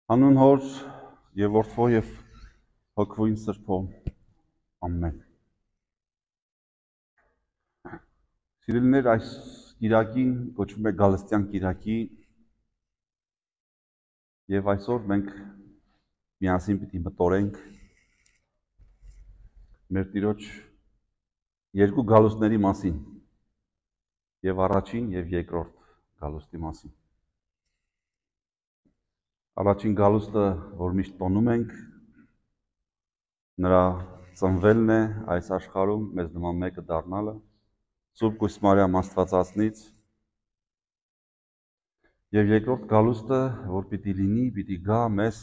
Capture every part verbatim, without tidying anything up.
Հանուն Հոր եւ Որդու եւ Հոգվույն Սրբո ամեն։ Սիրելիներ, այս կիրակին կոչվում է Գալստյան կիրակի եւ այսօր մենք միասին պիտի մտորենք մեր Տիրոջ երկու գալուստների մասին եւ առաջին եւ երկրորդ գալուստի մասին։ Առաջին գալուստը, որ միշտ տոնում ենք, նրա ծնվելն է այս աշխարհում, մեզ նման մեկը դառնալը, Սուրբ Կույս Մարիամ Աստվածածնից, եւ երկրորդ գալուստը, որ պիտի լինի, պիտի գա մեզ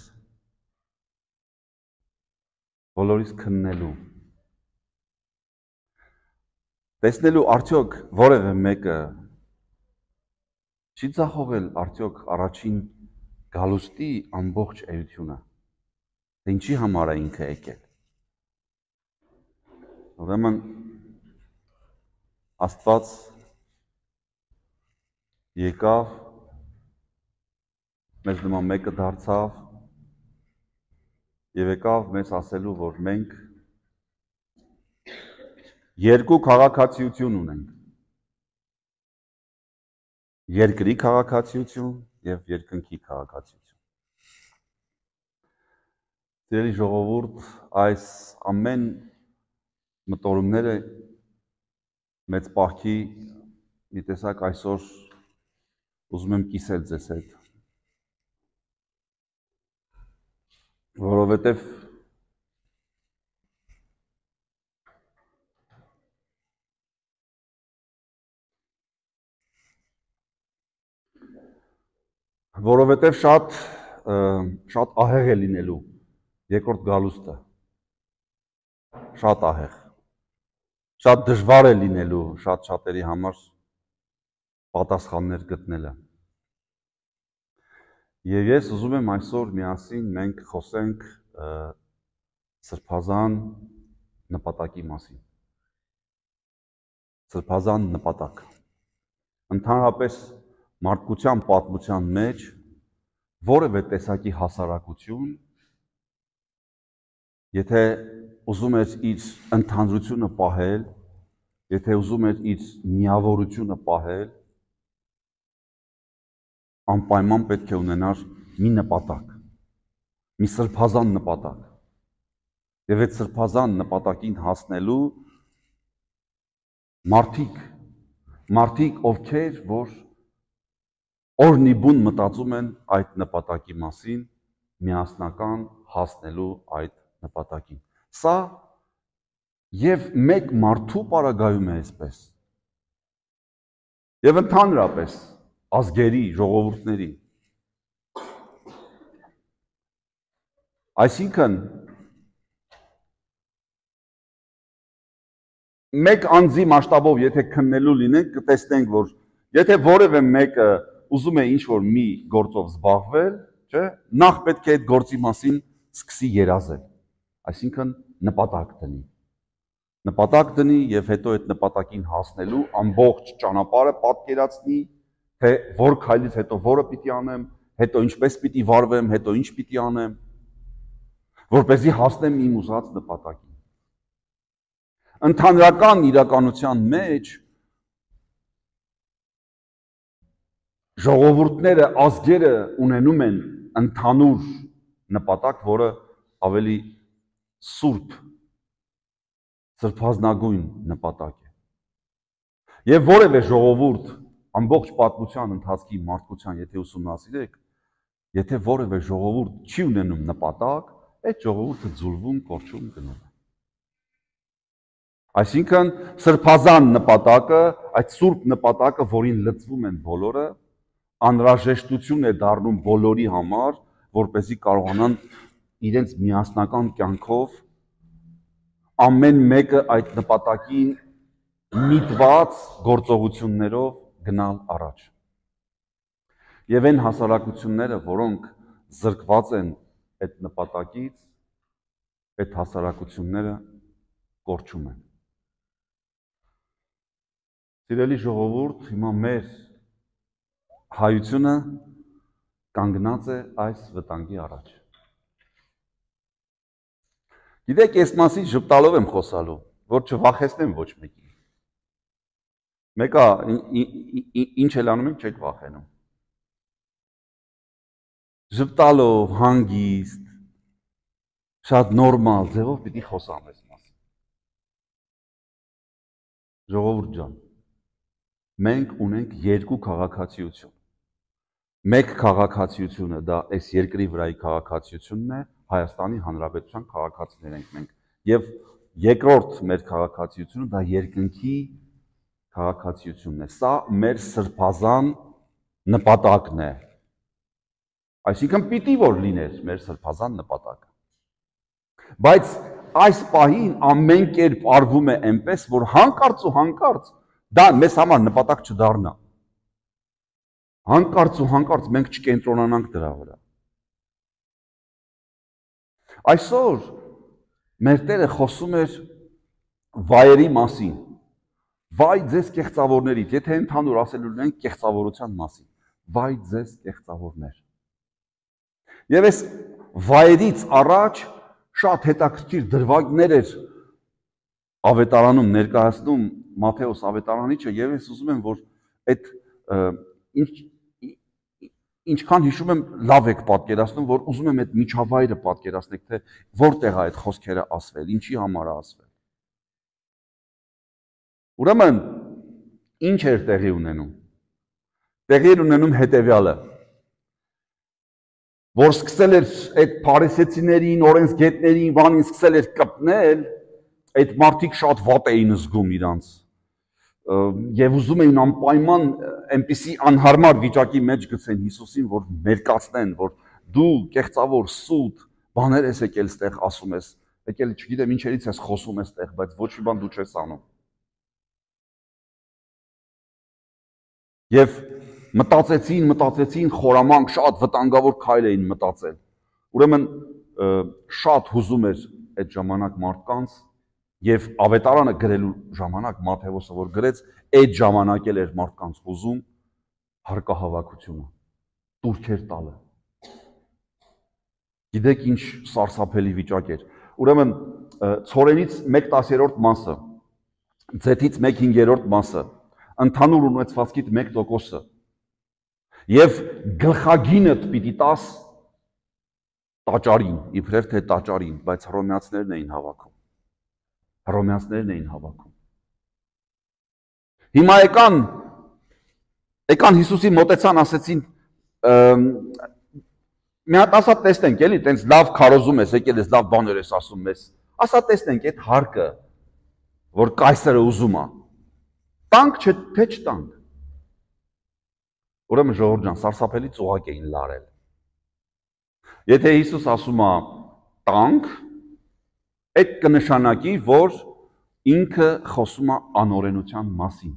բոլորիս քննելու։ Տեսնելու արդյոք որևէ մեկը չի ձախողել արդյոք առաջին գալուստի ամբողջ էությունը, թե ինչի համար է ինքը եկել։ Ուրեմն Աստված եկավ, մեզ նման մեկը դարձավ եւ եկավ մեզ ասելու, որ մենք երկու քաղաքացիություն ունենք։ Երկրի քաղաքացիություն եւ երկնքի քաղաքացիություն։ Սիրելի ժողովուրդ, այս ամեն մտորումները մեծ պահքի մի տեսակ այսօր ուզում եմ կիսել ձեզ հետ, որովհետև որովհետև շատ շատ ահեղ է լինելու երկրորդ գալուստը, շատ ահեղ, շատ դժվար է լինելու շատ շատերի համար պատասխաններ գտնելը։ Եվ ես ուզում եմ այսօր միասին մենք խոսենք սրբազան նպատակի մասին։ Սրբազան նպատակ։ Ընդհանրապես մարդկության պատմության մեջ որևէ տեսակի հասարակություն, եթե ուզում էր իր ընդհանրությունը պահել, եթե ուզում էր իր միավորությունը պահել, անպայման պետք է ունենար մի նպատակ, մի սրբազան նպատակ։ Եվ այդ սրբազան նպատակին հասնելու մարդիկ, մարդիկ ովքեր, որ օրնիբուն մտածում են այդ նպատակի մասին, միասնական հասնելու այդ նպատակին։ Սա եւ մեկ մարդու պարագայում է այսպես։ Եվ ընդհանրապես ազգերի, ժողովուրդների։ Այսինքն մեկ անձի մասշտաբով եթե քննելու լինենք, կտեսնենք, որ եթե որևէ մեկը ուզում է ինչ-որ մի գործով զբաղվել, չէ, նախ պետք է այդ գործի մասին սկսի երազել, այսինքն նպատակ դնի։ Նպատակ դնի եւ հետո այդ նպատակին հասնելու ամբողջ ճանապարհը պատկերացնի, թե որ քայլից հետո որը պիտի անեմ, հետո ինչպես պիտի վարվեմ, հետո ինչ պիտի անեմ, որպեսզի հասնեմ իմ ուզած նպատակին։ Ընդհանրական իրականության մեջ ժողովուրդները, ազգերը ունենում են ընդհանուր նպատակ, որը ավելի սուրբ, սրբազնագույն նպատակ է։ Եվ որևէ ժողովուրդ ամբողջ պատմության ընթացքի մարդկության, եթե ուսումնասիրեք, եթե որևէ ժողովուրդ չի ունենում նպատակ, այդ ժողովուրդը ձուլվում, կորչում, գնում է։ Այսինքն սրբազան նպատակը, այդ սուրբ նպատակը, որին լծվում են բոլորը, անհրաժեշտություն է դառնում բոլորի համար, որպեսզի կարողանան իրենց միասնական կյանքով ամեն մեկը այդ նպատակին միտված գործողություններով գնալ առաջ։ Եվ այն հասարակությունները, որոնք զրկված են այդ նպատակից, այդ հասարակությունները կորչում են։ Սիրելի ժողովուրդ, հիմա մեր հայությունը կանգնած է այս վտանգի առաջ։ Գիտեք, ես մասին ժպտալով եմ խոսալու, որ չվախեցնեմ ոչ մեկին։ Մեկը ինչ էլ անում ենք, չեք վախենում։ Ժպտալով, հանգիստ, շատ նորմալ ձևով պիտի խոսամ այս մասին։ Ժողովուրդ ջան, մենք ունենք երկու քաղաքացիություն։ Մեկ քաղաքացիությունը դա այս երկրի վրայի քաղաքացիությունն է, Հայաստանի Հանրապետության քաղաքացիներ ենք մենք։ Եվ երկրորդ մեր քաղաքացիությունը դա երկնքի քաղաքացիությունն է։ Սա մեր սրբազան նպատակն է։ Այսինքն պիտի որ լիներ մեր սրբազան նպատակը։ Բայց այս պահին ամեն կերպ արվում է այնպես, որ հանկարծ ու հանկարծ դա մեզ համար նպատակ չդառնա։ Հանկարծ ու հանկարծ մենք չկենտրոնանանք դրա վրա։ Այսօր մեր Տերը խոսում էր վայերի մասին։ Վայ ձեզ կեղծավորներից, եթե ընդհանուր ասելու ենք կեղծավորության մասին։ Վայ ձեզ կեղծավորներ։ Եվ այս վայերից առաջ շատ հետաքրքիր դրվագներ էր ավետարանում ներկայացնում Մատթեոս ավետարանիչը, եւ ես ուզում եմ, որ այդ ինչ ինչքան հիշում եմ, լավ եք պատկերացնում, որ ուզում եմ այդ միջավայրը պատկերացնեք, թե որտեղ է այդ խոսքերը ասվել, ինչի համար է ասվել։ Ուրեմն, ինչ էր տեղի ունենում։ Տեղի էր ունենում հետևյալը, որ սկսել էր այդ փարիսեցիներին, օրենսգետներին, բանին սկսել էր կպնել, այդ մարդիկ շատ վատ էին զգում իրանց։ Եվ ուզում էին անպայման այնպիսի անհարմար վիճակի մեջ գցեն Հիսուսին, որ մերկացնեն, որ դու կեղծավոր սուտ բաներ ես եկել ստեղ ասում ես, եկել չգիտեմ ինչերից ես խոսում ես ստեղ, բայց ոչ մի բան դու չես անում։ Եվ մտածեցին, մտածեցին խորամանկ, շատ վտանգավոր քայլ էին մտածել։ Ուրեմն շատ հուզում էր այդ ժամանակ մարդկանց եւ ավետարանը գրելու ժամանակ Մատթեոսը որ գրեց, այդ ժամանակ էլ էր մարդկանց հուզում հարկահավաքությունը, տուրքեր տալը։ Գիտեք ինչ սարսափելի վիճակ էր։ Ուրեմն ցորենից մեկ տասներորդ մասը, ձեթից մեկ հինգերորդ մասը, ընդհանուր ունեցվածքիդ մեկ տոկոսը եւ գլխագինդ պիտի տաս տաճարին, իբրև թե տաճարին, բայց հռոմեացիներն էին հավաքում։ Հռոմեացիներն էին հավաքում։ Հիմա եկան, եկան Հիսուսի մոտեցան, ասեցին, մի հատ ասա տեսնենք, էլի, տենց լավ քարոզում ես, եկել ես, լավ բաներ ես ասում ես, ասա տեսնենք այդ հարկը, որ կայսրը ուզում է, տանք չէ, թե չտանք։ Ուրեմն ժողովուրդ ջան, սարսափելի ծուղակ էին լարել։ Եթե Հիսուս ասում է տանք, այդ կնշանակի, որ ինքը խոսում է անօրենության մասին։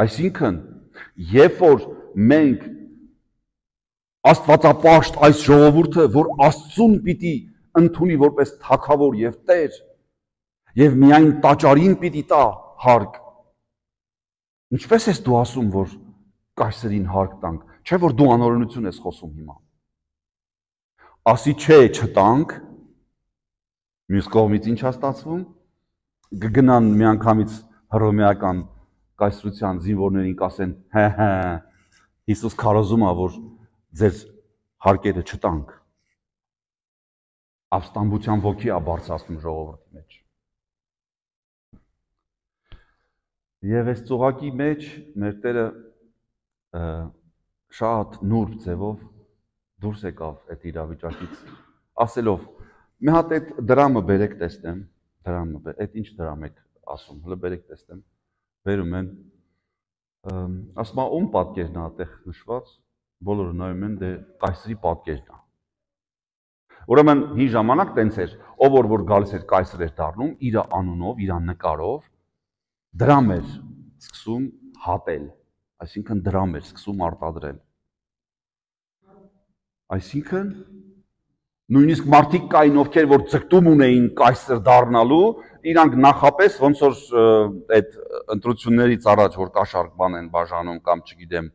Այսինքն, երբ որ մենք աստվածապաշտ այս ժողովուրդը, որ Աստծուն պիտի ընդունի որպես թագավոր եւ Տեր, եւ միայն տաճարին պիտի տա հարկ, ինչպես ես դու ասում, որ կայսրին հարկ տանք, չէ որ դու անօրենություն ես խոսում հիմա։ Ասի չէ չտանք, մյուս կողմից ինչ է ստացվում, կգնան միանգամից հռոմեական կայսրության զինվորներին կասեն, հե հե, Հիսուս քարոզում է, որ ձեր հարկերը չտանք։ Ապստամբության ոգի է բարձրացնում ժողովրդի մեջ։ Եվ այս ծուղակի մեջ մեր Տերը շատ նուրբ ձևով դուրս եկավ այդ իրավիճակից, ասելով, մի հատ այդ դրամը բերեք տեսնեմ, դրամը, այդ ինչ դրամ եք ասում, հլը բերեք տեսնեմ, բերում են, ասում է, ում պատկերն է այդտեղ նշված, բոլորը նայում են, դե կայսրի պատկերն է։ Ուրեմն հին ժամանակ տենց էր, ով որ որ գալիս էր կայսր էր դառնում, իր անունով, իր նկարով դրամ էր սկսում հատել, այսինքն դրամ էր սկսում արտադրել։ Այսինքն նույնիսկ մարդիկ կային, ովքեր որ ձգտում ունեին կայսր դառնալու, իրանք նախապես ոնց որ այդ ընտրություններից առաջ որ կաշառք բան են բաժանում կամ չգիտեմ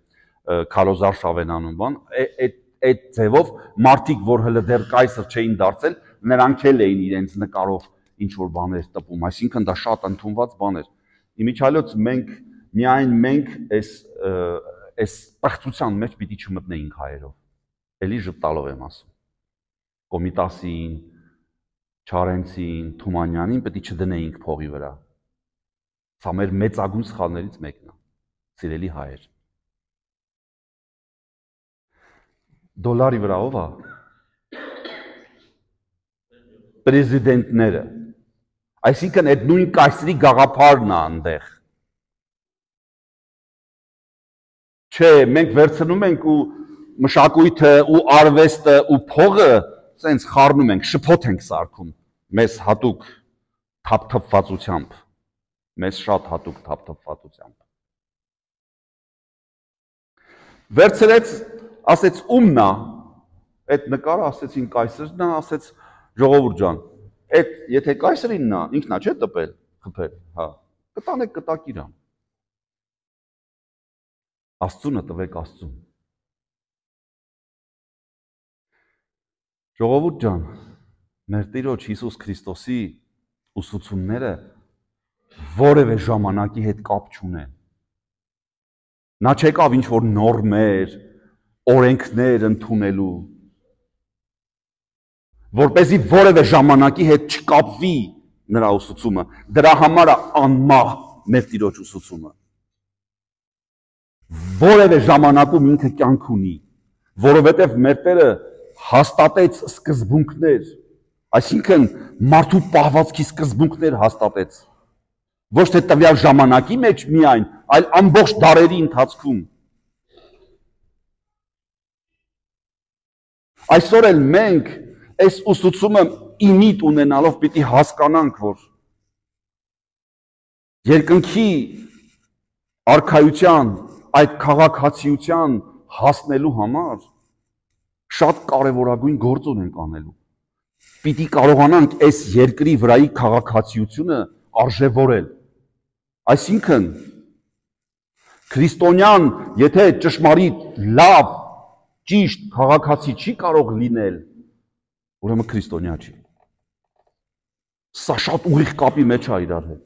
քարոզարշավ են անում բան, այդ այդ ձևով մարդիկ, որ հələ դեռ կայսր չէին դարձել, նրանք էլ էին իրենց նկարով ինչ որ բաներ տպում, այսինքն դա շատ ընդունված բան էր։ Իմիջիայլոց մենք միայն մենք այս այս պղծության մեջ պիտի չմտնեինք հայերով։ Էլի ժպտալով եմ ասում։ Կոմիտասին, Չարենցին, Թումանյանին պետք է չդնեինք փողի վրա։ Սա մեր մեծագույն սխալներից մեկն է, սիրելի հայեր։ Դոլարի վրա ով է։ Պրեզիդենտները։ Այսինքն այդ նույն կայսրի գաղափարն է այնտեղ։ Չէ, մենք վերցնում ենք ու մշակույթը ու արվեստը ու փողը սենց խառնում ենք, շփոթ ենք սարքում, մեզ հատուկ թափթփվածությամբ, մեզ շատ հատուկ թափթփվածությամբ։ Վերցրեց, ասեց ումն է, այդ նկարը ասեցին կայսրն է, ասեց ժողովուրդ ջան, այդ եթե կայսրինն է, ինքն է չէ տպել, խփել, հա, կտանեք կտակ իրան։ Աստծունը տվեք Աստծուն։ Ժողովուրդ ջան, մեր Տիրոջ Հիսուս Քրիստոսի ուսուցումները որևէ ժամանակի հետ կապ չունեն։ Նա չեկավ ինչ որ նորմեր, օրենքներ ընդունելու, որպեսզի որևէ ժամանակի հետ չկապվի նրա ուսուցումը։ Դրա համար է անմահ մեր Տիրոջ ուսուցումը։ Որևէ ժամանակում ինքը կյանք ունի, որովհետև մեր Տերը հաստատեց սկզբունքներ, այսինքն մարդու պահվածքի սկզբունքներ հաստատեց, ոչ թե տվյալ ժամանակի մեջ միայն, այլ ամբողջ դարերի ընթացքում։ Այսօր էլ մենք այս ուսուցումը իմիտ ունենալով պիտի հասկանանք, որ երկնքի արքայության այդ քաղաքացիության հասնելու համար շատ կարևորագույն գործ ունենք անելու։ Պիտի կարողանանք այս երկրի վրայի քաղաքացիությունը արժևորել։ Այսինքն քրիստոնյան, եթե ճշմարիտ, լավ, ճիշտ քաղաքացի չի կարող լինել, ուրեմն քրիստոնյա չի։ Սա շատ ուղիղ կապի մեջ է իրար հետ։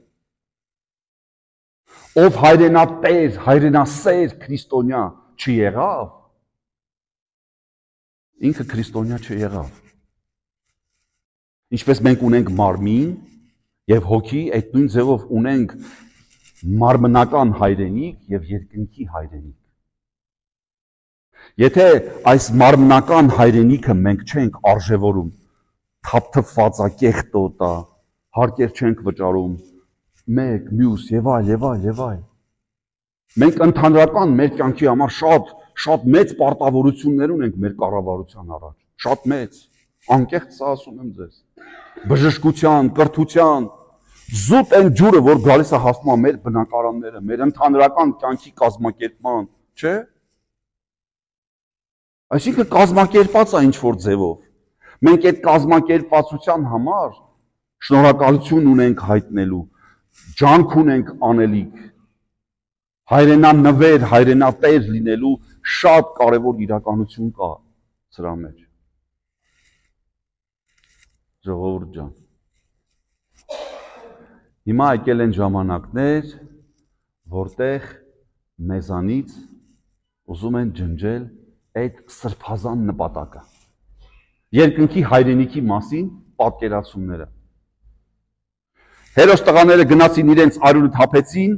Ով հայրենատեր, հայրենասեր քրիստոնյա չեղավ, ինքը քրիստոնյա չեղավ։ Ինչպես մենք ունենք մարմին եւ հոգի, այդ նույն ձևով ունենք մարմնական հայրենիք եւ երկնքի հայրենիք։ Եթե այս մարմնական հայրենիքը մենք չենք արժևորում, թափթփվածա կեղտոտա, հարկեր չենք վճարում, մեկ, մյուս եւ այլ եւ այլ եւ այլ։ Մենք ընդհանրական մեր կյանքի համար շատ շատ մեծ պարտավորություններ ունենք մեր կառավարության առաջ, շատ մեծ, անկեղծ սա ասում եմ ձեզ։ Բժշկության, կրթության, զուտ այն ջուրը, որ գալիս է հասնում է մեր բնակարանները, մեր ընդհանրական կյանքի կազմակերպման, չէ՞։ Այսինքն կազմակերպած է ինչ որ ձևով։ Մենք այդ կազմակերպվածության համար շնորհակալություն ունենք հայտնելու, ջանք ունենք անելիք, հայրենանվեր, հայրենատեր լինելու շատ կարևոր իրականություն կա սրա մեջ։ Ժողովուրդ ջան, հիմա եկել են ժամանակներ, որտեղ մեզանից ուզում են ջնջել այդ սրբազան նպատակը, երկնքի հայրենիքի մասին պատկերացումները։ Հերոս տղաները գնացին իրենց արյունը թափեցին,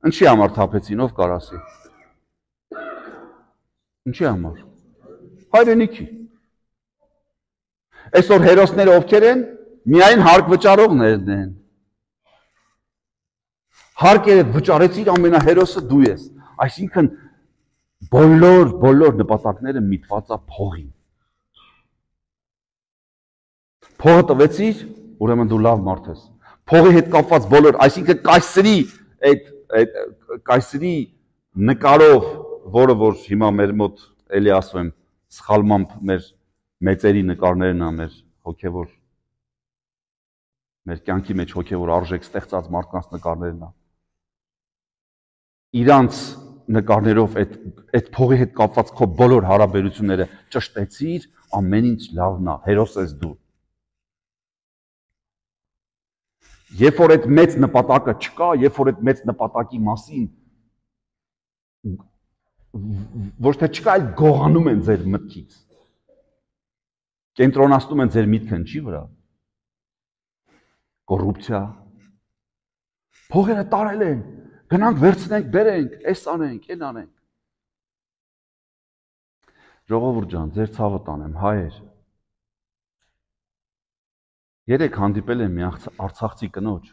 ինչի համար թափեցին, ով կարասի։ Ինչի համար։ Հայրենիքի։ Այսօր հերոսները ովքեր են, միայն հարկ վճարողներն են։ Հարկերը վճարեցիր ամենահերոսը դու ես։ Այսինքն բոլոր բոլոր նպատակները միտված է փողին։ Փողը տվեցիր, ուրեմն դու լավ մարդ ես։ Փողի հետ կապված բոլոր, այսինքն կայսրի այդ այդ կայսրի նկարով, որը որ հիմա մեր մոտ էլի ասում եմ, սխալմամբ մեր մեծերի նկարներն է, մեր հոգևոր մեր կյանքի մեջ հոգևոր արժեք ստեղծած մարդկանց նկարներն է։ Իրանց նկարներով այդ այդ փողի հետ կապված քո բոլոր հարաբերությունները ճշտեցիր, ամեն ինչ լավն է, հերոս ես դու։ Երբ որ այդ մեծ նպատակը չկա, երբ որ այդ մեծ նպատակի մասին ոչ թե չկա, այլ գողանում են ձեր մտքից։ Կենտրոնացնում են ձեր միտքը ինչի վրա։ Կոռուպցիա։ Փողերը տարել են, գնանք վերցնենք, բերենք, էս անենք, այն անենք։ Ժողովուրդ ջան, ձեր ցավը տանեմ, հայեր։ Երեք հանդիպել եմ մի արցախցի կնոջ,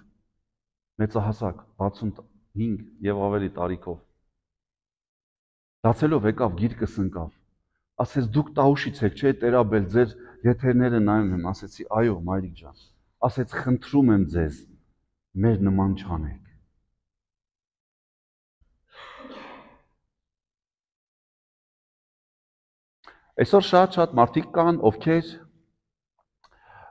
մեծահասակ, վաթսունհինգ եւ ավելի տարիքով։ Դացելով եկավ գիրկս ընկավ։ Ասեց դուք տաուշից եք, չէ՞ տերաբել, ձեր եթերները նայում եմ, ասեցի այո, մայրիկ ջան։ Ասեց խնդրում եմ ձեզ, մեր նման չանեք։ Այսօր շատ-շատ մարդիկ կան, ովքեր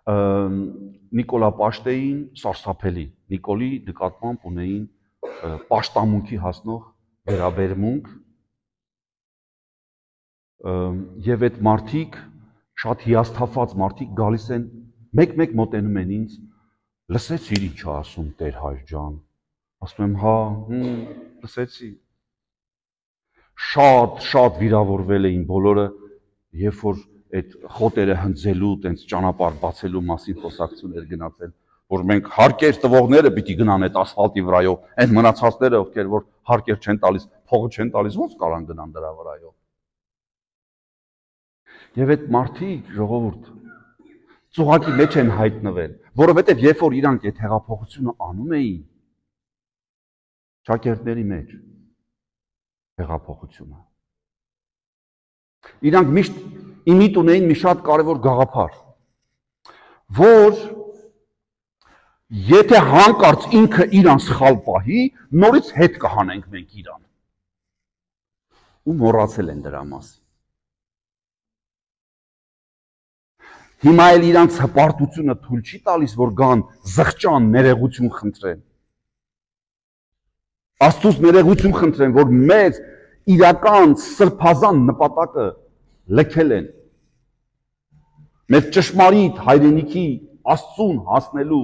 Նիկոլա Պաշտեին սարսափելի, Նիկոլի նկատմամբ ունեին պաշտամունքի հասնող վերաբերմունք եւ այդ մարդիկ շատ հիասթափված մարդիկ գալիս են մեկ-մեկ մոտենում են ինձ, լսեցիր ինչ ասում Տեր հայր ջան, ասում եմ հա, լսեցի, շատ շատ վիրավորվել էին բոլորը, երբ որ այդ խոտերը հնձելու, տենց ճանապարհ բացելու մասին խոսակցություններ գնացել, որ մենք հարկեր տվողները պիտի գնան այդ ասֆալտի վրայով, այն մնացածները, ովքեր որ հարկեր չեն տալիս, փողը չեն տալիս, ո՞նց կարան գնան դրա վրայով։ Եվ այդ մարդիկ, ժողովուրդ, ծուղակի մեջ են հայտնվել, որովհետև երբ որ իրանք այդ հեղափոխությունը անում էին, ճակերտների մեջ հեղափոխությունը, իրանք միշտ իմիտ ունեին մի շատ կարևոր գաղափար, որ եթե հանկարծ ինքը իրան սխալ պահի, նորից հետ կհանենք մենք իրան։ Ու մոռացել են դրա մասին։ Հիմա էլ իրանց հպարտությունը թույլ չի տալիս, որ գան զղջան ներողություն խնդրեն։ Աստծուց ներողություն խնդրեն, որ մեզ իրական սրբազան նպատակը լքել են։ Մեր ճշմարիտ հայրենիքի Աստծուն հասնելու,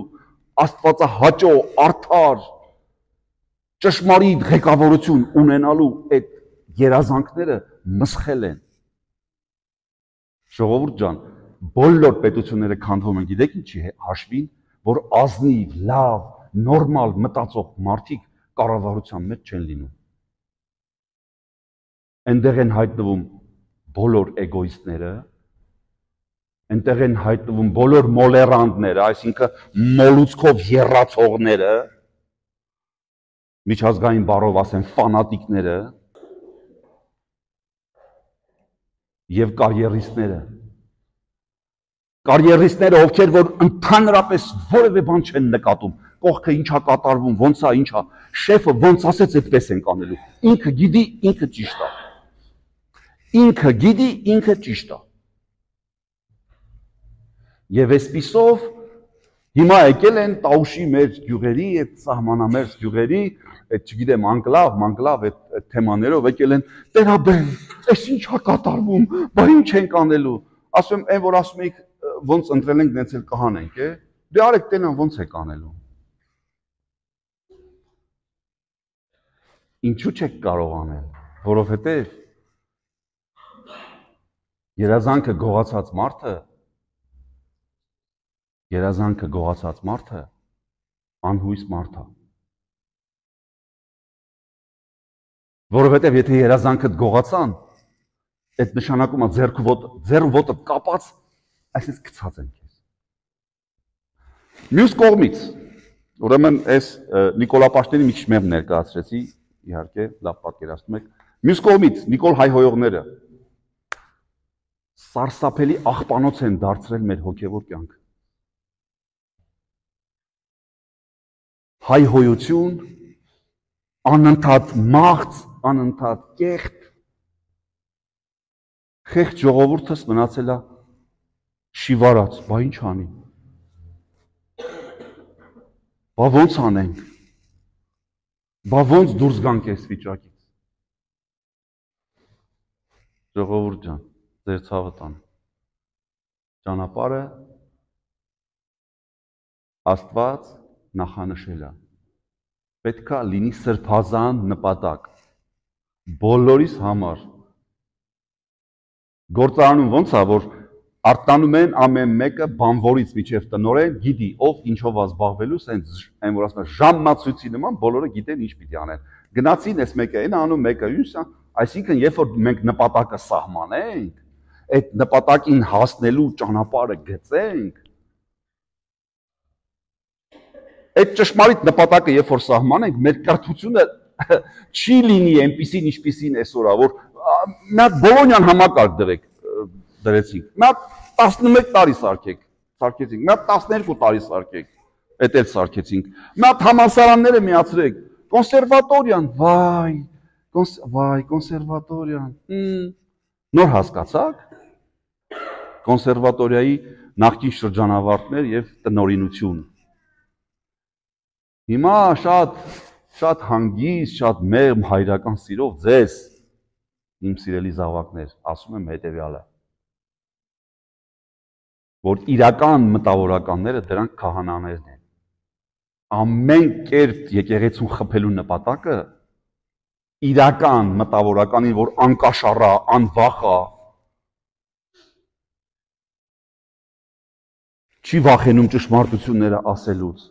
աստվածահաճո, արդար, ճշմարիտ ղեկավարություն ունենալու այդ երազանքները մսխել են։ Ժողովուրդ ջան, բոլոր պետությունները քանդվում են, գիտեք ինչի հաշվին, որ ազնիվ, լավ, նորմալ մտածող մարդիկ կառավարության մեջ չեն լինում։ Այնտեղ են հայտնվում բոլոր էգոիստները, այնտեղ են հայտնվում բոլոր մոլերանտները, այսինքն մոլուցքով եռացողները, միջազգային բառով ասեմ ֆանատիկները եւ կարիերիստները։ Կարիերիստները, ովքեր որ ընդհանրապես որևէ բան չեն նկատում, կողքը ինչա կատարվում, ոնց է, ինչա, շեֆը ոնց ասեց, այդպես են կանելու։ Ինքը գիտի, ինքը ճիշտ է։ Ինքը գիտի, ինքը ճիշտ է։ Եվ այսպիսով հիմա եկել են Տաուշի մեր գյուղերի, այդ սահմանամերձ գյուղերի, այդ չգիտեմ, անկլավ, մանկլավ այդ թեմաներով եկել են, տերաբեն, այս ինչա կատարվում, բա ինչ ենք անելու։ Ասում եմ, այն որ ասում եք ոնց ընտրել ենք, նենց էլ կհանենք, է։ Դե արեք տենան ոնց եք անելու։ Ինչու չեք կարող անել, որովհետև երազանքը գողացած մարդը, երազանքը գողացած մարդը անհույս մարդ է։ Որովհետև եթե երազանքդ գողացան, այդ նշանակում է ձեռքը ոտը, ձեռը ոտը կապած, այսպես գցած են քեզ։ Մյուս կողմից, ուրեմն այս Նիկոլա Պաշտենի մի քիչ մեղ ներկայացրեցի, իհարկե, լավ պատկերացնում եք։ Մյուս կողմից Նիկոլ հայհոյողները սարսափելի աղբանոց են դարձրել մեր հոգևոր կյանքը։ Հայհոյություն, անընդհատ մաղձ, անընդհատ կեղտ, խեղճ ժողովուրդս մնացել է շիվարած, բա ինչ անի։ Բա ոնց անենք։ Բա ոնց դուրս գանք այս վիճակից։ Ժողովուրդ ջան, ձեր ցավը տան։ Ճանապարհը Աստված նախանշել է։ Պետքա լինի սրբազան նպատակ բոլորիս համար։ Գործարանում ոնց է, որ արտանում են ամեն մեկը բանվորից միջև տնորեն գիտի ով ինչով զբաղվելու, սենց այն որ ասում են ժամացույցի նման բոլորը գիտեն ինչ պիտի անեն։ Գնացին այս մեկը այն անում, մեկը յուսա, այսինքն երբ որ մենք նպատակը սահմանենք, այդ նպատակին հասնելու ճանապարհը գծենք, այդ ճշմարիտ նպատակը երբ որ սահմանենք, մեր կրթությունը չի լինի այնպիսին ինչպիսին այսօր, որ մի հատ Բոլոնյան համակարգ դրեք, դրեցինք, մի հատ տասնմեկ տարի սարքեք, սարքեցինք, մի հատ տասներկու տարի սարքեք, այդ էլ սարքեցինք, մի հատ համալսարանները միացրեք, կոնսերվատորիան, վայ, վայ, կոնսերվատորիան, նոր հասկացաք, կոնսերվատորիայի նախկին շրջանավարտներ և տնօրինություն։ Հիմա շատ, շատ հանգիստ, շատ մեղմ հայրական սիրով ձեզ, իմ սիրելի զավակներ, ասում եմ հետևյալը, որ իրական մտավորականները դրանք քահանաներն են։ Ամեն կերպ եկեղեցուն խփելու նպատակը իրական մտավորականին, որ անկաշառա, անվախ է, չի վախենում ճշմարտությունները ասելուց,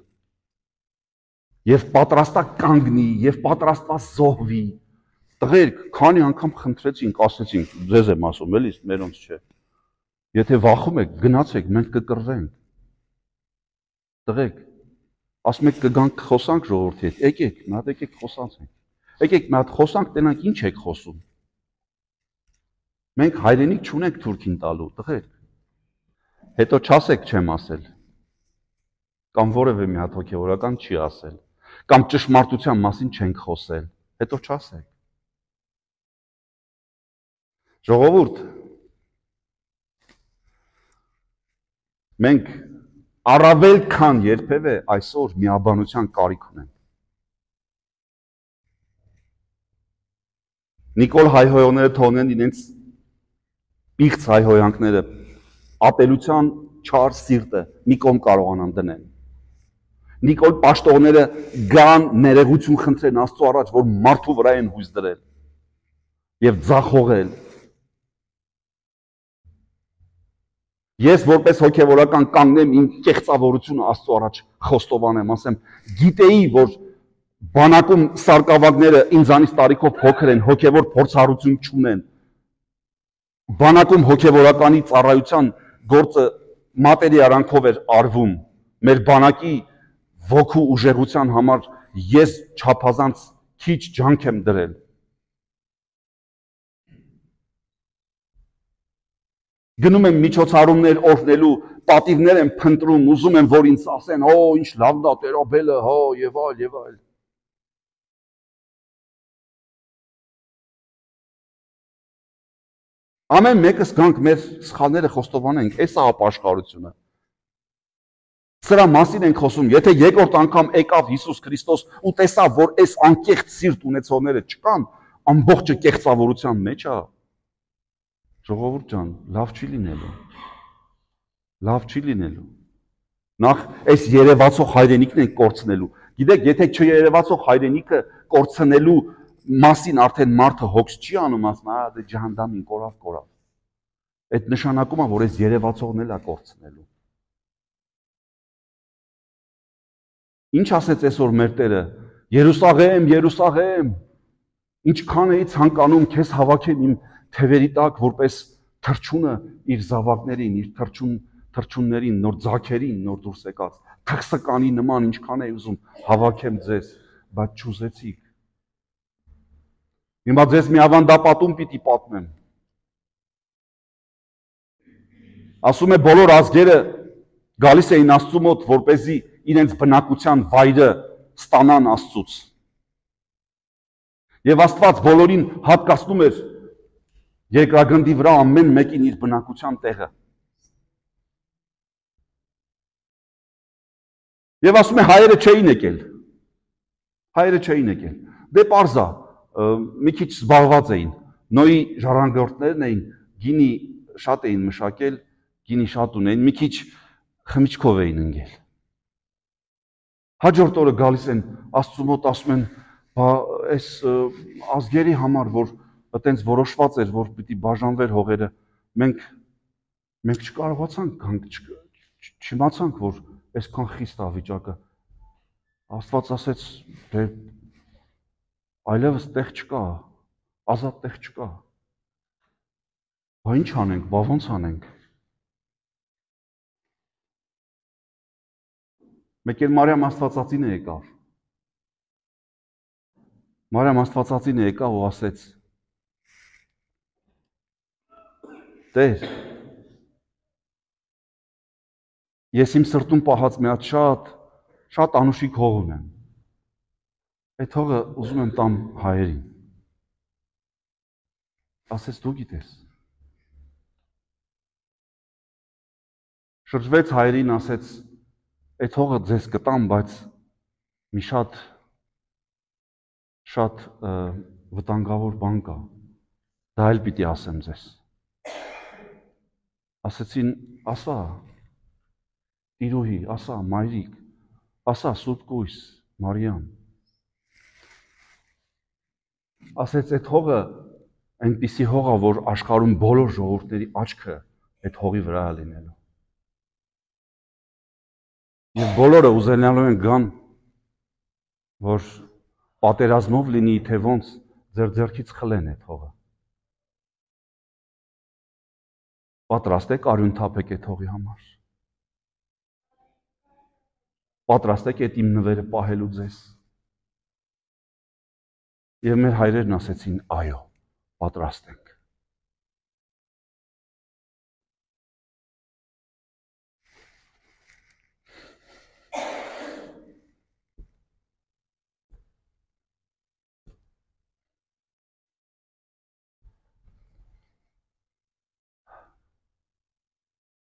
և պատրաստա կանգնի, և պատրաստա զոհվի, տղերք, քանի անգամ խնդրեցինք, ասեցինք, ձեզ եմ ասում, էլի, մերոնց չէ, եթե վախում եք, գնացեք, մենք կկռվենք, տղերք, ասում եք կգանք խոսանք ժողովրդի հետ, եկեք, մի հատ եկեք խոսանք, եկեք մի հատ խոսանք, տենանք ինչ եք խոսում, մենք հայրենիք չունենք թուրքին տալու, տղերք, հետո չասեք չեմ ասել, կամ որևէ մի հատ հոգևորական չի ասել, կամ ճշմարտության մասին չենք խոսել, հետո չասեք։ Ժողովուրդ, մենք առավել քան երբևէ այսօր միաբանության կարիք ունենք։ Նիկոլ հայհոյողները թողնեն իրենց պիղծ հայհոյանքները, ատելության չար սիրտը մի կողմ կարողանան դնեն։ Նիկոլ պաշտողները գան ներողություն խնդրեն Աստծո առաջ, որ մարդու վրա են հույս դրել և ձախողել։ Ես որպես հոգևորական կանգնեմ իմ կեղծավորությունը Աստծո առաջ խոստովանեմ, ասեմ, գիտեի, որ բանակում սարկավագները ինձանից տարիքով փոքր են, հոգևոր փորձառություն չունեն։ Բանակում հոգևորականի ծառայության գործը մատերի արանքով էր արվում, մեր բանակի ոգու ուժեղության համար ես չափազանց քիչ ջանք եմ դրել։ Գնում եմ միջոցառումներ օրհնելու, պատիվներ եմ փնտրում, ուզում եմ, որ ինձ ասեն, օ, ինչ լավն է Տեր-Աբելը, հա, եւ այլ, եւ այլ։ Ամեն մեկս գանք մեր սխալները խոստովանենք, էս է ապաշխարությունը։ Սրա մասին ենք խոսում, եթե երկրորդ անգամ եկավ Հիսուս Քրիստոս ու տեսավ, որ այս անկեղծ սիրտ ունեցողները չկան, ամբողջը կեղծավորության մեջ է։ Ժողովուրդ ջան, լավ չի լինելու։ Լավ չի լինելու։ Նախ այս երևացող հայրենիքն ենք կորցնելու։ Գիտեք, եթե չերևացող հայրենիքը կորցնելու մասին արդեն մարդը հոգս չի անում, ասում, «Ա, դե ջհանդամին կորավ, կորավ»։ Այդ նշանակում է, որ այս երևացողն էլ է կորցնելու։ Ինչ ասեց այսօր մեր Տերը, Երուսաղեմ, Երուսաղեմ, ինչքան էի ցանկանում քեզ հավաքեմ իմ թևերի տակ, որպես թռչունը իր զավակներին, իր թռչուն թռչուններին, նոր ձագերին, նոր դուրս եկած, թղսկանի նման ինչքան էի ուզում հավաքեմ ձեզ, բայց չուզեցիք։ Հիմա ձեզ մի ավանդապատում պիտի պատմեմ։ Ասում է բոլոր ազգերը գալիս էին Աստծու մոտ, որպեսզի իրենց բնակության վայրը ստանան Աստծուց։ Եվ Աստված բոլորին հատկացնում էր երկրագնդի վրա ամեն մեկին իր բնակության տեղը։ Եվ ասում է հայերը չէին եկել։ Հայերը չէին եկել։ Դե պարզ է, մի քիչ զբաղված էին։ Նոյի ժառանգորդներն էին, գինի շատ էին մշակել, գինի շատ ունեին, մի քիչ խմիչքով էին ընկել։ Հաջորդ օրը գալիս են Աստծու մոտ ասում են, բա այս ազգերի համար, որ այտենց որոշված էր, որ պիտի բաժանվեր հողերը, մենք մենք չկարողացանք, չիմացանք, որ այսքան խիստ է վիճակը։ Աստված ասեց, դե այլևս տեղ չկա, ազատ տեղ չկա։ Բա ինչ անենք, բա ոնց անենք։ Մեկ էլ Մարիամ Աստվածածին է եկավ։ Մարիամ Աստվածածին է եկավ ու ասեց. Տեր, ես իմ սրտում պահած մի հատ շատ, շատ անուշիկ հող ունեմ։ Այդ հողը ուզում եմ տամ հայերին։ Ասեց դու գիտես։ Շրջվեց հայերին, ասեց, այդ հողը ձեզ կտամ, բայց մի շատ շատ վտանգավոր բան կա։ Դա էլ պիտի ասեմ ձեզ։ Ասեցին, ասա, տիրուհի, ասա, մայրիկ, ասա, Սուրբ Կույս, Մարիամ։ Ասեց, այդ հողը այնպիսի հող է, որ աշխարհում բոլոր ժողովուրդների աչքը այդ հողի վրա է լինելու։ Եվ բոլորը ուզենալու են գան, որ պատերազմով լինի, թե ոնց ձեր ձեռքից խլեն այդ հողը։ Պատրաստ եք արյուն թափեք այդ հողի համար։ Պատրաստ եք այդ իմ նվերը պահելու ձեզ։ Եվ մեր հայրերն ասեցին, այո, պատրաստ ենք։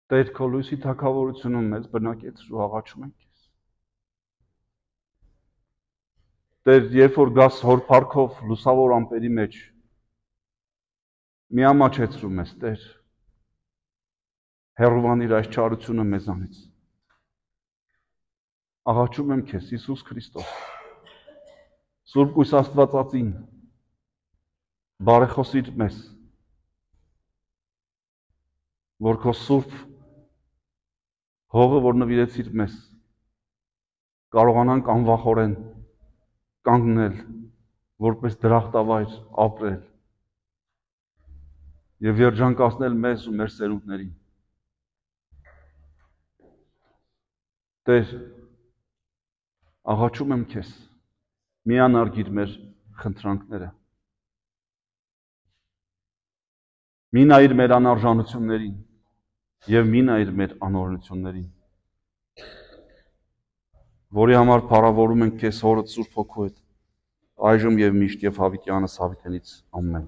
Տեր քո լույսի թագավորությունում մեզ բնակեցրու ու աղաչում ենք քեզ։ Տեր, երբ որ գաս հոր փառքով լուսավոր ամպերի մեջ, մի ամաչեցրու մեզ, Տեր, հեռուանիր այս չարությունը մեզանից։ Աղաչում եմ քեզ, Հիսուս Քրիստոս, Սուրբ Կույս Աստվածածին, բարեխոսիր մեզ, որ քո սուրբ հողը, որ նվիրեցիր մեզ, կարողանանք անվախորեն կանգնել, որպես դրախտավայր ապրել եւ երջանկացնել մեզ ու մեր սերունդներին։ Տեր, աղաչում եմ քեզ, միանարգիր մեր խնդրանքները։ Մի նայիր մեր անարժանություններին եւ մի նայիր մեր անօրենություններին, որի համար փառավորում ենք քեզ Հորդ Սուրբ Հոգու հետ, այժմ եւ միշտ եւ հավիտյանս հավիտենից ամեն։